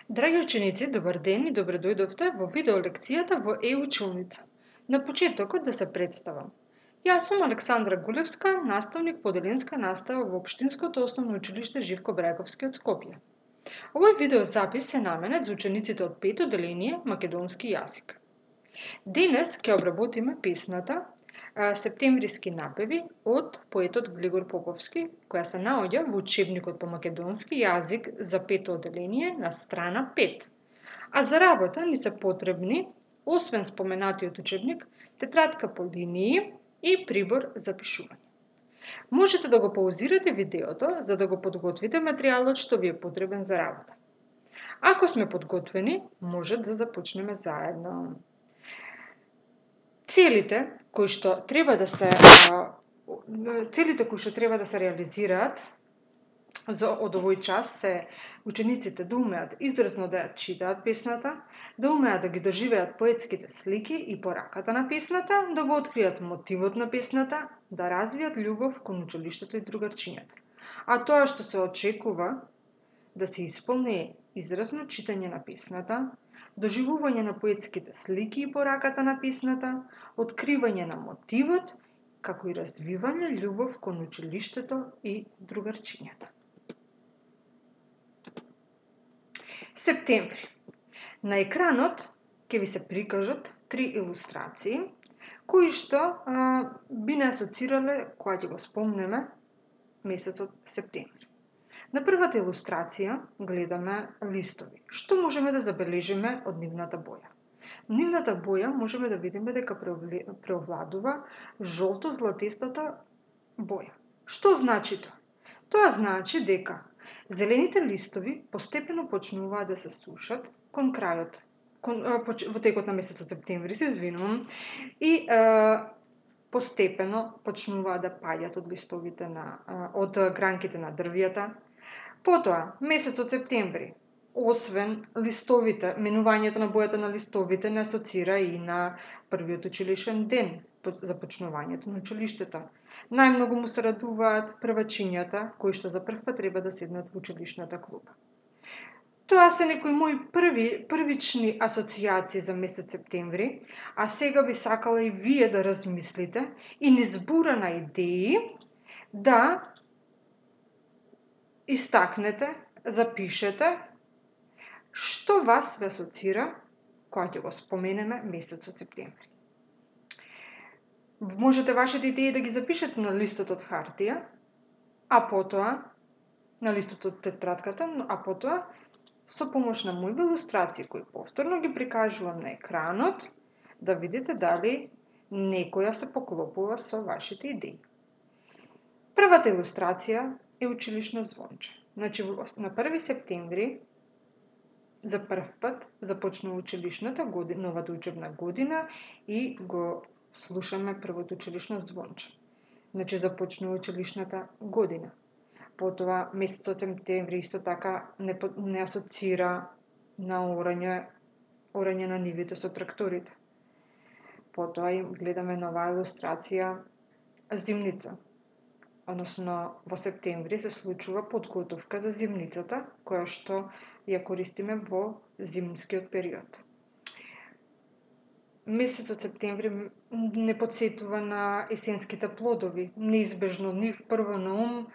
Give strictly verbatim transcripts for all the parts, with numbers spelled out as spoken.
Драги ученици, добар ден и добре дојдовте во видео лекцијата во Е-училница. На почетокот да се представам. Јас сум Александра Гулевска, наставник по оделенска настава во Општинското основно училиште Живко Брајковски од Скопје. Овој видеозапис е наменет за учениците од пето одделение македонски јазик. Денес ќе обработиме песната Септемвриски напеви од поетот Глигор Поповски, која се наоѓа во учебникот по македонски јазик за пето одделение на страна пет. А за работа ни се потребни, освен споменатиот учебник, тетрадка по линии и прибор за пишување. Можете да го паузирате видеото за да го подготвите материјалот што ви е потребен за работа. Ако сме подготвени, може да започнеме заедно. Целите кои што треба да се целите кои што треба да се реализираат за од овој час се учениците да умеат изразно да ја читаат песната, да умеат да ги доживеат поетските слики и пораката на песната, да го откријат мотивот на песната, да развијат љубов кон училиштето и другарчињата. А тоа што се очекува да се исполни изразно читање на песната, доживување на поетските слики и пораката на песната, откривање на мотивот, како и развивање љубов кон училиштето и другарчињата. Септември. На екранот ќе ви се прикажат три илустрации, кои што а, би не асоцирале кога ќе го спомнеме месецот септември. На првата илустрација гледаме листови. Што можеме да забележиме од нивната боја? Нивната боја можеме да видиме дека преовладува жолто-златистата боја. Што значи тоа? Тоа значи дека зелените листови постепено почнуваат да се сушат кон крајот, кон, во текот на месецот септември, се извинувам, и е, постепено почнуваат да паѓаат од листовите на од гранките на дрвјата. Потоа, месецот септември, освен листовите, менувањето на бојата на листовите не асоцира и на првиот училишен ден, започнувањето на училиштето. Најмногу му се радуваат првачињата, кои што за прв пат треба да седнат во училишната клупа. Тоа се некои мои први, првични асоцијации за месец септември, а сега би сакала и вие да размислите и низ бура на идеи да истакнете, запишете што вас ве асоцира кога ќе го споменеме месецот септември. Можете вашите идеи да ги запишете на листот од хартија, а потоа на листот од тетрадката, а потоа со помош на мои илустрации кои повторно ги прикажувам на екранот, да видите дали некоја се поклопува со вашите идеи. Првата илустрација е училишно звонче. Значи, на први септември за прв пат започнува училишната година, новата учебна година и го слушаме првото училишно звонче. Значи, започнува училишната година. Потоа, месецот септември исто така не, не асоцира на орање, орање на нивите со тракторите. Потоа и гледаме нова илустрација зимница. Односно, во септември се случува подготовка за зимницата, која што ја користиме во зимскиот период. Месецот септември не потсетува на есенските плодови. Неизбежно нив прво на ум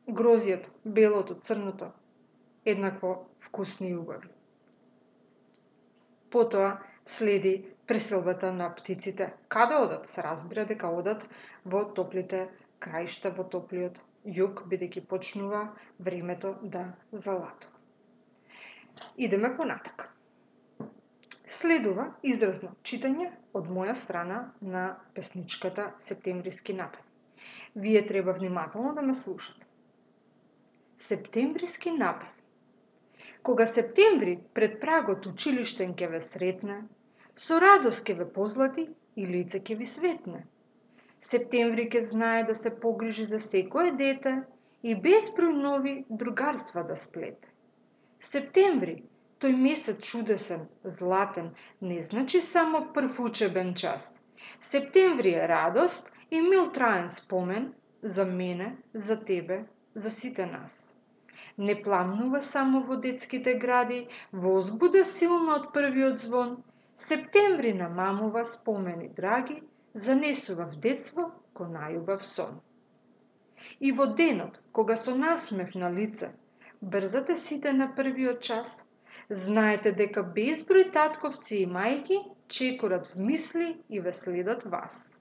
грозијето, белото, црното, еднакво вкусни и убави. Потоа следи преселбата на птиците. Каде одат? Се разбира дека одат во топлите краишта, во топлиот југ, бидејќи почнува времето да залатува. Идеме понатака. Следува изразно читање од моја страна на песничката Септемвриски напеви. Вие треба внимателно да ме слушате. Септемвриски напеви. Кога септември пред прагот училиштен ќе ве сретне, со радост ќе ве позлати и лице ќе ви светне. Септември ќе знае да се погрижи за секое дете и безброј нови другарства да сплете. Септември, тој месец чудесен, златен, не значи само прв учебен час. Септември е радост и мил траен спомен за мене, за тебе, за сите нас. Не пламнува само во детските гради, возбуда силно од првиот звон, септември намамува спомени драги, занесува в детство ко најубав сон. И во денот, кога со насмев на лице, брзате сите на првиот час, знаете дека безброј татковци и мајки чекорат в мисли и ве следат вас.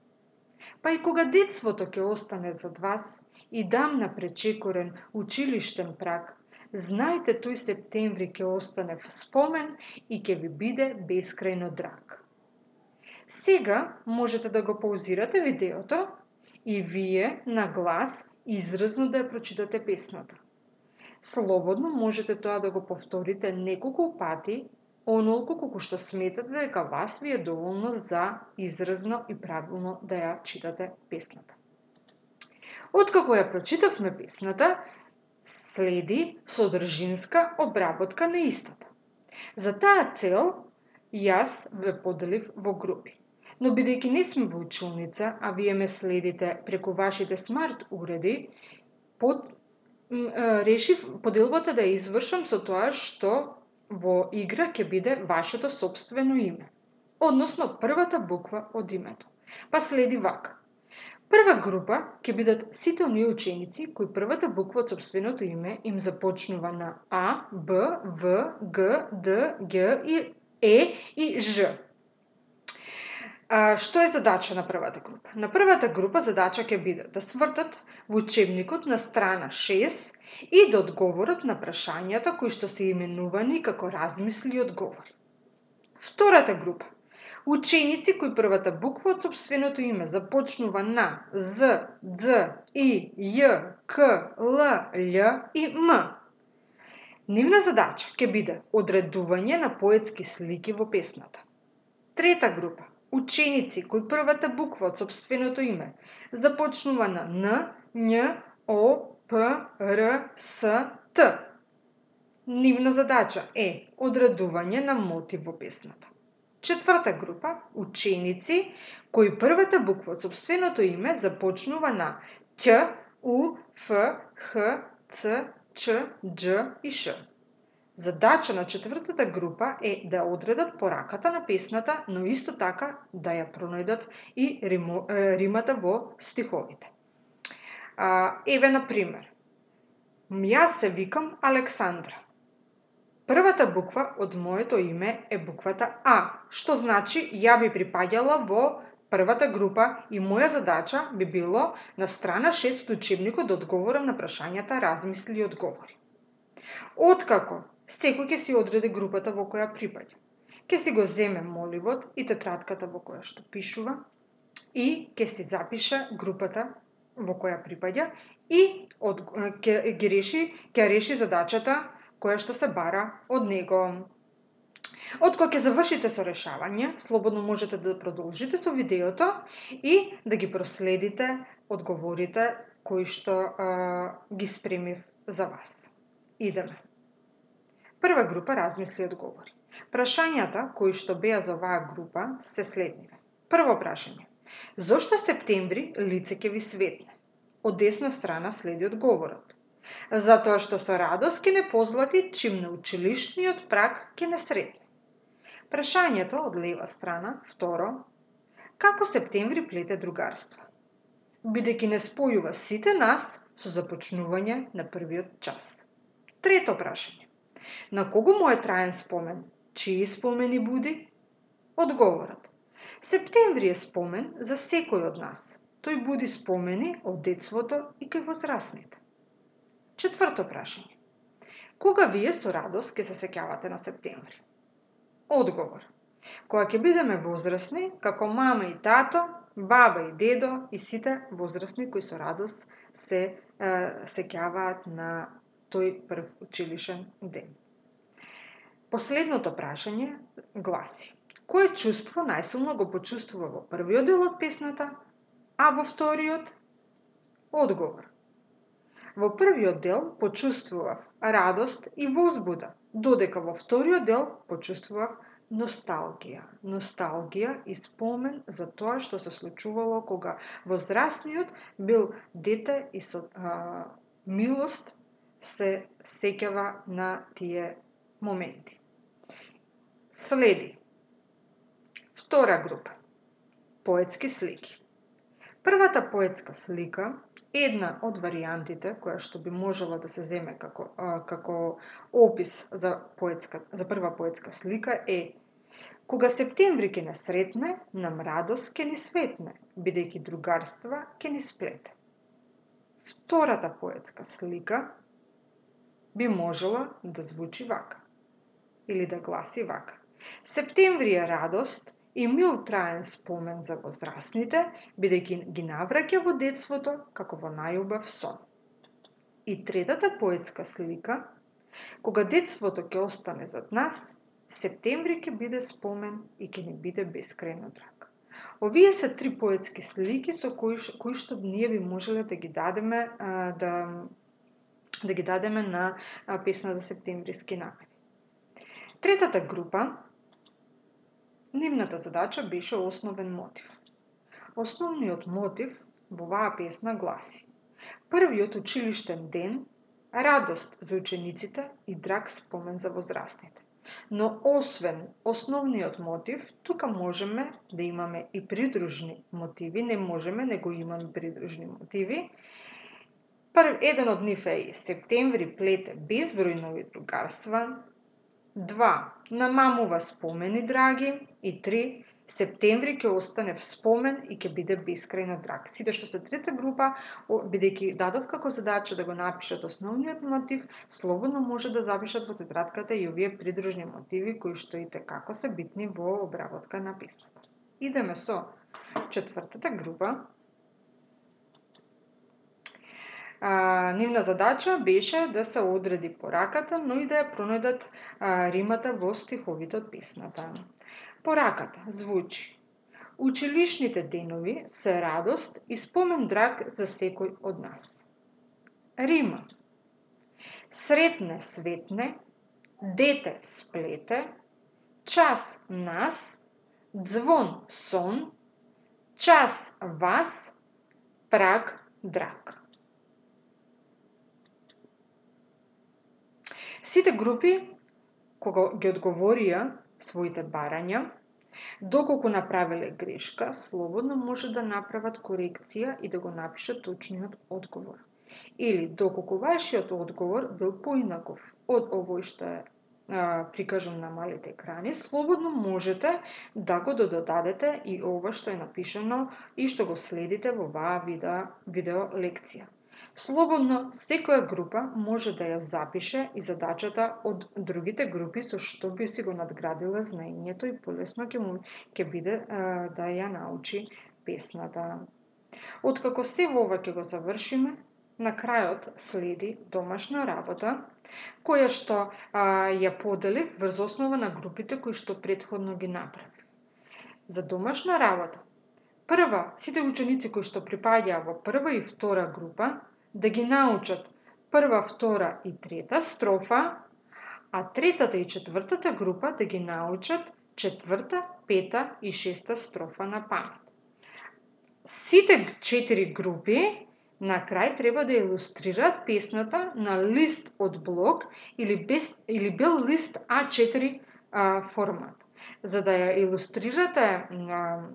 Па и кога детството ќе остане зад вас и дамна пречекорен училиштен праг, знаете тој септември ќе остане в спомен и ќе ви биде бескрајно драг. Сега можете да го паузирате видеото и вие на глас изразно да ја прочитате песната. Слободно можете тоа да го повторите неколку пати, онолку колку што сметате дека вас ви е доволно за изразно и правилно да ја читате песната. Откако ја прочитавме песната, следи содржинска обработка на истата. За таа цел, јас ве поделив во групи. Но бидејќи не сме во училница, а вие ме следите преку вашите смарт уреди, под, решив поделбата да ја извршам со тоа што во игра ќе биде вашето собствено име, односно првата буква од името. Па следи вака. Прва група ќе бидат сите оние ученици кои првата буква од собственото име им започнува на А, Б, В, Г, Д, Г, и Е и Ж. А, што е задача на првата група? На првата група задача ќе биде да свртат во учебникот на страна шест и да одговорат на прашањата кои што се именувани како размисли и одговори. Втората група. Ученици кои првата буква од собственото име започнува на З, Дз, И, Ј, К, Л, Л и М. Нивна задача ќе биде одредување на поетски слики во песната. Трета група. Ученици кои првата буква од собственото име започнува на Н, Њ, О, П, Р, С, Т. Нивна задача е одредување на мотив во песната. Четврта група. Ученици кои првата буква од собственото име започнува на Ќ, У, Ф, Х, Ц, Ч, Дж и Ш. Задача на четвртата група е да одредат пораката на песната, но исто така да ја пронајдат и римо, е, римата во стиховите. А, еве, на пример, јас се викам Александра. Првата буква од моето име е буквата А, што значи ја би припаѓала во првата група и моја задача би било на страна шест од учебникот да одговорам на прашањата размисли и одговори. Откако секој ќе си одреди групата во која припаѓа, ќе си го земе моливот и тетратката во која што пишува и ќе си запише групата во која припаѓа и од, ќе, ги реши, ќе реши задачата која што се бара од него. Откако ќе завршите со решавање, слободно можете да продолжите со видеото и да ги проследите одговорите кои што а, ги спремив за вас. Идеме. Прва група размисли и одговори. Прашањата кои што беа за оваа група се следниве. Прво прашање. Зошто септември лице ќе ви светне? Од десна страна следи одговорот. Затоа што со радост ќе не позлати чим на училишниот праг ќе не сретне. Прашањето од лева страна, второ, како септември плете другарство? Бидејќи не спојува сите нас со започнување на првиот час. Трето прашање. На кого му е траен спомен? Чии спомени буди? Одговорот. Септември е спомен за секој од нас. Тој буди спомени од детството и кај возрасните. Четврто прашање. Кога вие со радост ќе се сеќавате на септември? Одговор. Кога ќе бидеме возрасни, како мама и тато, баба и дедо и сите возрасни кои со радост се е, сеќаваат на тој прв училишен ден. Последното прашање гласи. Кое чувство најсилно го почувствува во првиот дел од песната, а во вториот? Одговор. Во првиот дел почувствував радост и возбуда, додека во вториот дел почувствував носталгија. Носталгија и спомен за тоа што се случувало кога возрастниот бил дете и со а, милост се сеќава на тие моменти. Следи втора група поетски слики. Првата поетска слика, една од варијантите која што би можела да се земе како а, како опис за поетска за прва поетска слика е: кога септември ќе не сретне, нам радост ќе ни светне, бидејќи другарства ќе ни сплете. Втората поетска слика би можела да звучи вака или да гласи вака: септември е радост и мил траен спомен за возрастните, бидејќи ги навраќа во детството како во најубав сон. И третата поетска слика: кога детството ќе остане зад нас, септември ќе биде спомен и ќе ни биде бескрајно драг. Овие се три поетски слики со кои, кои што ние би можеле да ги дадеме а, да да ги дадеме на а, песната Септемвриски намери. Третата група, нивната задача беше основен мотив. Основниот мотив во оваа песна гласи: првиот училиштен ден, радост за учениците и драг спомен за возрастните. Но освен основниот мотив, тука можеме да имаме и придружни мотиви, не можеме, него имаме придружни мотиви. Прв, еден од нив е: септември плете безброј нови другарства. Два, намамува спомени драги. И три, септември ќе остане в спомен и ќе биде бескрајно драг. Сите што се трета група, бидејќи дадов како задача да го напишат основниот мотив, слободно може да запишат во тетратката и овие придружни мотиви кои што и текако се битни во обработка на песната. Идеме со четвртата група. А, нивна задача беше да се одреди пораката, но и да ја пронајдат а, римата во стиховите од песната. Пораката звучи: училишните денови се радост и спомен драг за секој од нас. Рима: сретне светне, дете сплете, час нас, звон сон, час вас, праг драг. Сите групи, кога ги одговорија своите барања, доколку направиле грешка, слободно може да направат корекција и да го напишат точниот одговор. Или доколку вашиот одговор бил поинаков од овој што е а, прикажан на малите екрани, слободно можете да го додадете и ова што е напишано и што го следите во оваа видео, видео лекција. Слободно секоја група може да ја запише и задачата од другите групи со што би си го надградила знаењето и полесно ќе му ќе биде а, да ја научи песната. Откако се ова ќе го завршиме, на крајот следи домашна работа, која што а, ја поделив врз основа на групите кои што претходно ги направив. За домашна работа, прва, сите ученици кои што припаѓаа во прва и втора група, да ги научат прва, втора и трета строфа, а третата и четвртата група да ги научат четврта, пета и шеста строфа на памет. Сите четири групи на крај треба да илустрираат песната на лист од блок или, без, или бел лист а четири а, формат. За да ја илустрирате а,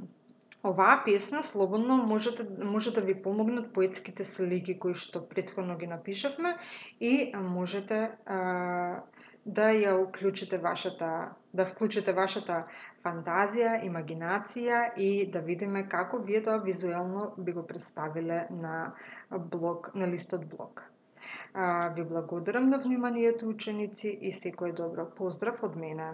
оваа песна, слободно можете, може да ви помогнат поетските слики кои што претходно ги напишавме и можете а, да ја уклучите вашата, да вклучите вашата фантазија, имагинација и да видиме како вие тоа визуелно би го представиле на блок, на листот блок. А, ви благодарам на вниманието, ученици, и секое добро. Поздрав од мене.